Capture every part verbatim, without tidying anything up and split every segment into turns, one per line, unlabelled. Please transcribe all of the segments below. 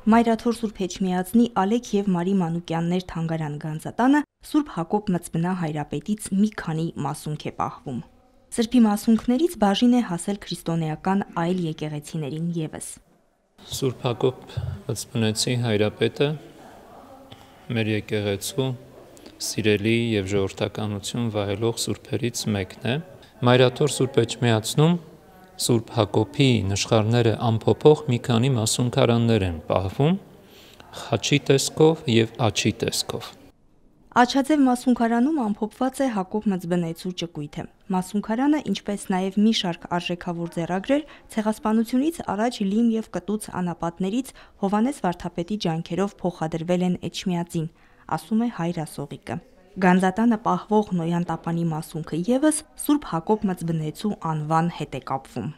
Մայրաթոր Սուրբ Էջմիածնի Ալեք և Մարի Մանուկյաններ թանգարան Գանձատանը Սուրբ Հակոբ Մծբնա Հայրապետից մի քանի մասունք է պահվում։ Սրբի մասունքներից բաժին է հասել քրիստոնեական այլ եկեղեցիներին ևս։
Սուրբ Հակոբ Մծբնեցի Հայրապետը մեր եկեղեցու սիրելի և ժողովրդականություն վայելող սուրբերից մեկն է։ Մայրաթոր Սուրբ Էջմիածնում Սուրբ Հակոբի նշխարները ամփոփող մի քանի մասունքարաններ են պահվում խաչի տեսքով և աջի տեսքով։
Աջաձև մասունքարանում ամփոփված է Հակոբ Մծբնեցու ճկույթը։ Մասունքարանը, ինչպես նաև մի շարք արժեքավոր ձեռագրեր, ցեղասպանությունից առաջ լիմ և կտուց անապատներից Հովհաննես վարդապետի ջանքերով փոխադրվել են Էջմիածին, ասում է հայր Ասողիկը։ Գանձատանը պահվող Նոյան տապանի մասունքը ևս Սուրբ Հակոբ Մծբնեցու անվան հետ է կապվում։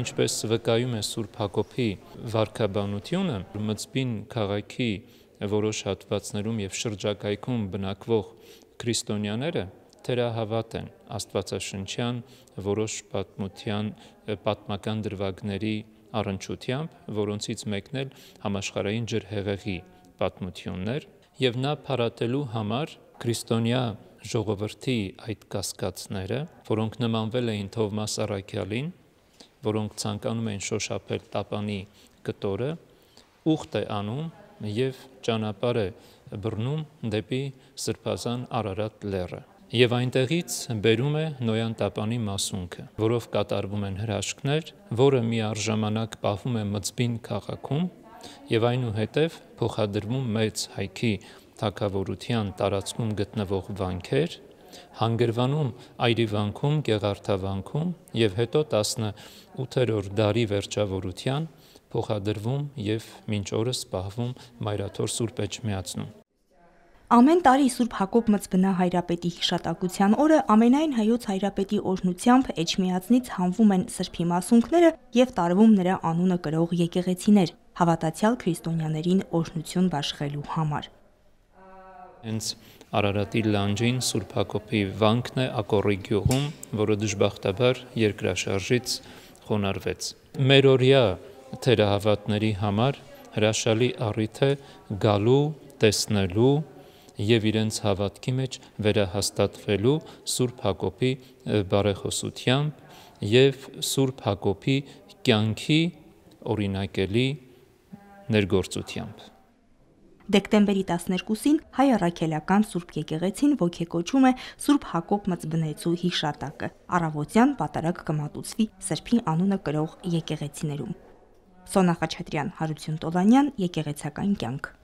Ինչպես վկայում է Սուրբ Հակոբի վարքաբանությունը, Մծբին քաղաքի որոշ հատվածներում և շրջակայքում բնակվող քրիստոնյաները թերահավատ են աստվածաշնչյան որոշ պատմության պատմական դրվագների առնչությամբ, որոնցից մեկն էլ համաշխարհային ջրհեղեղի պատմությունն էր, և նա փարատելու համար քրիստոնյա ժողովրդի այդ կասկածները, որոնք նմանվել էին Թովմաս Առաքյալին, որոնք ցանկանում էին շոշափել տապանի կտորը, ուխտ է անում և ճանապարհ է բռնում դեպի Սրբազան Արարատ լեռը։ Եվ այնտեղից բերում է Նոյան տապանի մասունքը, որով կատարվում են հրաշքներ, որը միառժամանակ պահվում է Մծբին քաղաքում և այնուհետև փոխադրվում Մեծ Հայքի թագավորության տարածքում գտնվող վանքեր, հանգրվանում Այրիվանքում, Գեղարդավանքում և հետո տասնութերորդ դարի վերջավորության փոխադրվում և մինչ օրս պահվում Մայրաթոր Սուրբ Էջմիածնում։
Ամեն տարի Սուրբ Հակոբ Մծբնա Հայրապետի հիշատակության օրը ամենայն Հայոց Հայրապետի օրհնությամբ Էջմիածնից հանվում են սրբի մասունքները և տարվում նրա անունը կրող եկեղեցիներ, հավատացյալ քրիստոնյաներին օրհնություն բաշխելու համար։
Հենց Արարատի լանջին Սուրբ Հակոբի վանքն է Ակոռի գյուղում, որը դժբախտաբար երկրաշարժից խոնարհվեց։ Մերօրյա թերահավատների համար հրաշալի առիթ է գալու, տեսնելու և իրենց հավատքի մեջ վերահաստատվելու Սուրբ Հակոբի բարեխոսությամբ և Սուրբ Հակոբի կյանքի օրինակելի ներգործությամբ։
Դեկտեմբերի տասներկուսին Հայ Առաքելական Սուրբ եկեղեցին ոգեկոչում է Սուրբ Հակոբ Մծբնեցու հիշատակը։ Առավոտյան պատարագ կմատուցվի սրբի անունը կրող եկեղեցիներում։ Սոնա Խաչատրյան, Հարություն Տոլանյան, Եկեղեցական կյանք։